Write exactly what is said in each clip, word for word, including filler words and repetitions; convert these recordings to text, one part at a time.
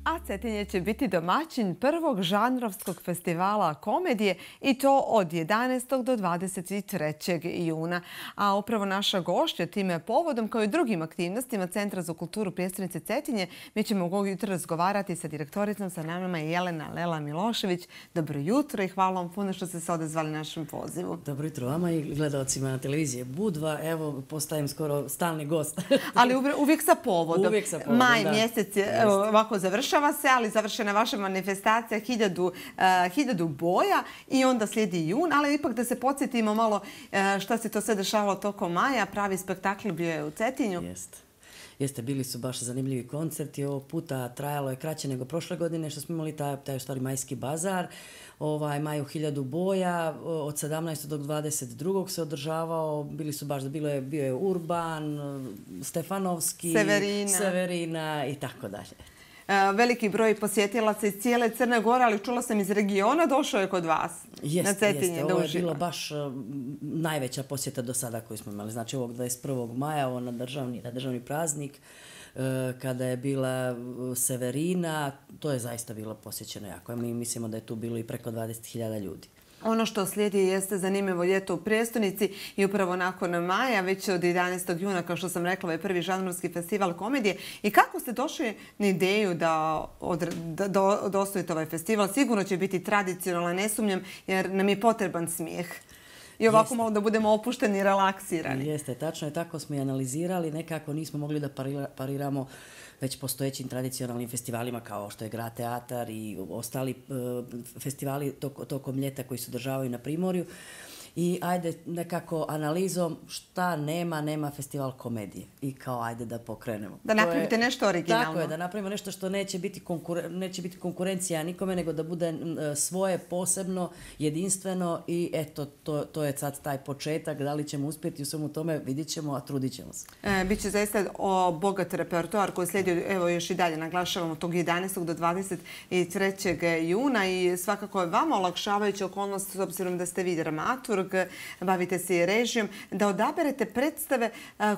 A Cetinje će biti domaćin prvog žanrovskog festivala komedije i to od jedanaestog do dvadeset trećeg juna. A upravo naša gošća time povodom kao i drugim aktivnostima Centra za kulturu prijestolnice Cetinje mi ćemo ovog jutra razgovarati sa direktoricom, sa nama je Jelena Lela Milošević. Dobro jutro i hvala vam puno što ste se odazvali našem pozivu. Dobro jutro vama i gledalcima na televizije Budva. Evo, postajem skoro stalni gost. Ali uvijek sa povodom. Uvijek sa povodom, Maj da. mjesec je ovako završava se, ali završena vaša manifestacija hiljadu, uh, hiljadu boja i onda slijedi jun, ali ipak da se podsjetimo malo uh, šta se to sve dešavalo tokom maja. Pravi spektakl bio je u Cetinju. Jeste. Jeste, bili su baš zanimljivi koncerti. Ovog puta trajalo je kraće nego prošle godine što smo imali taj, taj stvari majski bazar. Ovaj, maj u hiljadu boja, od sedamnaestog do dvadeset drugog se održavao. Bili su baš, bilo je, bio je Urban, Stefanovski, Severina, Severina i tako dalje. Veliki broj posjetilaca iz cijele Crne Gore, ali čula sam iz regiona, došao je kod vas jest, na Cetinje jeste. da Ovo je uživa. bilo baš uh, najveća posjeta do sada koju smo imali. Znači ovog dvadeset prvog maja, ovo na državni, na državni praznik, uh, kada je bila Severina, to je zaista bilo posjećeno jako. Mi mislimo da je tu bilo i preko dvadeset hiljada ljudi. Ono što slijedi jeste zanimljivo ljeto u prijestolnici i upravo nakon maja, već od jedanaestog juna, kao što sam rekla, je prvi žanrovski festival komedije. I kako ste došli na ideju da, od, da, da, da osnovite ovaj festival? Sigurno će biti tradicionalan, ne sumnjam, jer nam je potreban smijeh. I ovako Jeste. malo da budemo opušteni i relaksirani. Jeste, tačno je, tako smo i analizirali. Nekako nismo mogli da parira, pariramo već postojećim tradicionalnim festivalima kao što je Grad teatar i ostali uh, festivali tok, tokom ljeta koji se održavaju na Primorju. I ajde nekako analizom šta nema, nema festival komedije. I kao ajde da pokrenemo. Da napravite nešto originalno. Tako je, da napravimo nešto što neće biti, konkuren, neće biti konkurencija nikome, nego da bude svoje, posebno, jedinstveno i eto, to, to je sad taj početak. Da li ćemo uspjeti u svemu tome, vidit ćemo, a trudit ćemo se. E, Biće zaista o bogat repertoar koji slijedi, evo još i dalje naglašavamo, tog jedanaestog do dvadeset trećeg juna i svakako je vama olakšavajuća okolnost s obzirom da ste vi dramaturg, bavite se i režijom, da odaberete predstave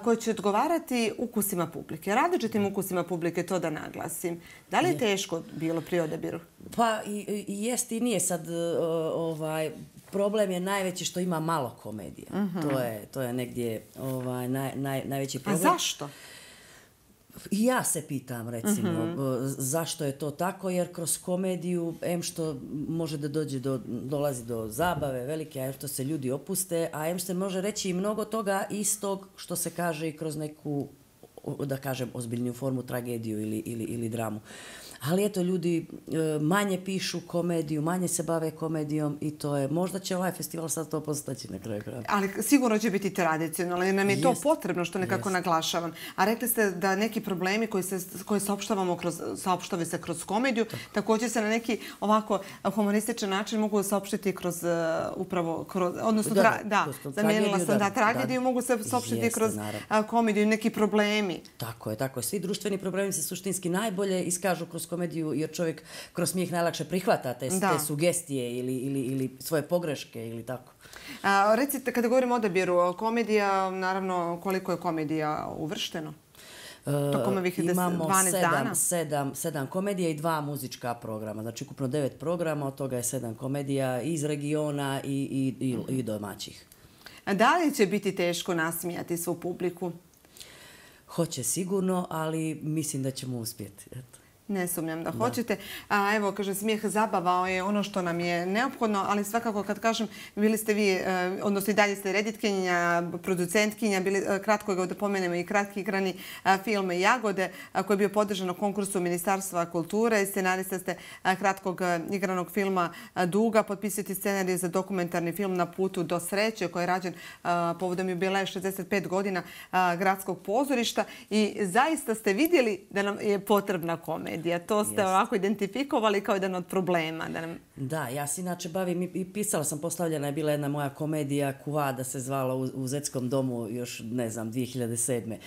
koje će odgovarati ukusima publike, različitim ukusima publike, to da naglasim. Da li je teško bilo pri odabiru? Pa i, i jest i nije sad ovaj, problem je najveći što ima malo komedije. Uh-huh. To je, to je negdje ovaj, naj, naj, najveći problem. A zašto? I ja se pitam, recimo, uh-huh. zašto je to tako, jer kroz komediju, em što može da dođe do, dolazi do zabave velike, a em što se ljudi opuste, a em se može reći i mnogo toga istog što se kaže i kroz neku, da kažem, ozbiljniju formu, tragediju ili, ili, ili dramu. Ali eto, ljudi manje pišu komediju, manje se bave komedijom i to je, možda će ovaj festival sad to postaći na kraju kraja. Ali sigurno će biti tradicionalno jer nam je to Jest. potrebno što nekako Jest. naglašavam. A rekli ste da neki problemi koji se koje saopštavamo kroz saopštave se kroz komediju, tako. Također se na neki ovako humorističan način mogu saopštiti kroz uh, upravo kroz odnosno da, tra, da, da zamijenila sam da, da tragediju da, mogu se saopštiti jeste, kroz naravno. komediju, neki problemi. Tako je, tako je. Svi društveni problemi se suštinski najbolje iskažu kroz komediju jer čovjek kroz smijeh najlakše prihvata te, te sugestije ili, ili, ili svoje pogreške ili tako. A, recite, kada govorimo o odabiru komedija, naravno koliko je komedija uvršteno? Tokom ovih dvanaest dana? Sedam, sedam komedija i dva muzička programa. Znači ukupno devet programa, od toga je sedam komedija iz regiona i, i, i, i domaćih. A da li će biti teško nasmijati svu publiku? Hoće sigurno, ali mislim da ćemo uspjeti. Eto. Ne sumnjam da hoćete. A, evo, kaže, smijeh zabava je ono što nam je neophodno, ali svakako kad kažem, bili ste vi, odnosno i dalje ste reditkinja, producentkinja, bili, kratko ga da pomenemo i kratki igrani film Jagode, koji je bio podržan na konkursu Ministarstva kulture. Scenarista ste kratkog igranog filma Duga, potpisujete scenarij za dokumentarni film Na putu do sreće, koji je rađen povodom jubileja šezdeset pet godina gradskog pozorišta i zaista ste vidjeli da nam je potrebna komedija. To ste yes. ovako identifikovali kao jedan od problema. Da, nam... da, ja se inače bavim i pisala sam, postavljena je bila jedna moja komedija Kuvada se zvala u, u Zetskom domu još, ne znam, dvije hiljade sedme.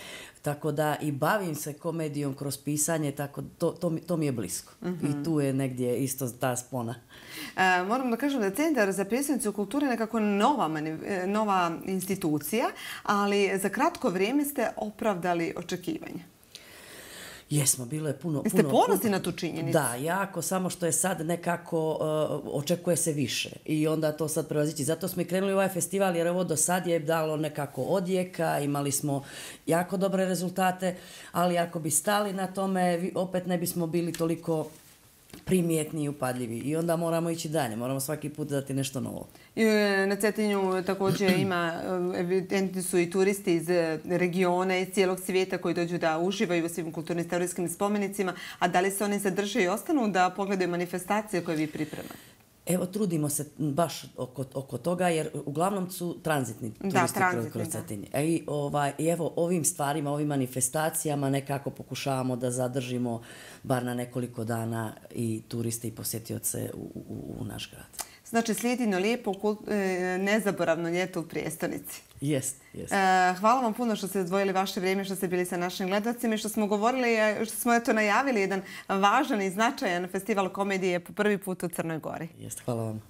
Tako da i bavim se komedijom kroz pisanje, tako to, to, to mi je blisko. Mm-hmm. I tu je negdje isto ta spona. E, moram da kažem da je Centar za prijestolnicu kulture nekako nova, nova institucija, ali za kratko vrijeme ste opravdali očekivanja. Jesmo, bilo je puno... Jeste puno, ponosni puno, na tu činjenicu? Da, jako, samo što je sad nekako uh, očekuje se više i onda to sad prevazići. Zato smo i krenuli u ovaj festival jer ovo do sad je dalo nekako odjeka, imali smo jako dobre rezultate, ali ako bi stali na tome, opet ne bismo bili toliko primjetni i upadljivi. I onda moramo ići dalje, moramo svaki put dati nešto novo. I na Cetinju također ima, evidentni su i turisti iz regiona, iz cijelog svijeta koji dođu da uživaju u svim kulturno-istorijskim spomenicima, a da li se oni zadrže i ostanu da pogledaju manifestacije koje vi pripremate? Evo, trudimo se baš oko, oko toga, jer uglavnom su tranzitni turisti da, tranzitni, kroz Cetinje. I, ovaj, I evo, ovim stvarima, ovim manifestacijama nekako pokušavamo da zadržimo bar na nekoliko dana i turiste i posjetioce u, u, u naš grad. Znači, slijedi jedno lijepo, nezaboravno ljeto u prijestolnici. Jest, jest. Hvala vam puno što ste odvojili vaše vrijeme, što ste bili sa našim gledalcima i što smo govorili, što smo eto najavili jedan važan i značajan festival komedije po prvi put u Crnoj Gori. Jest, hvala vam.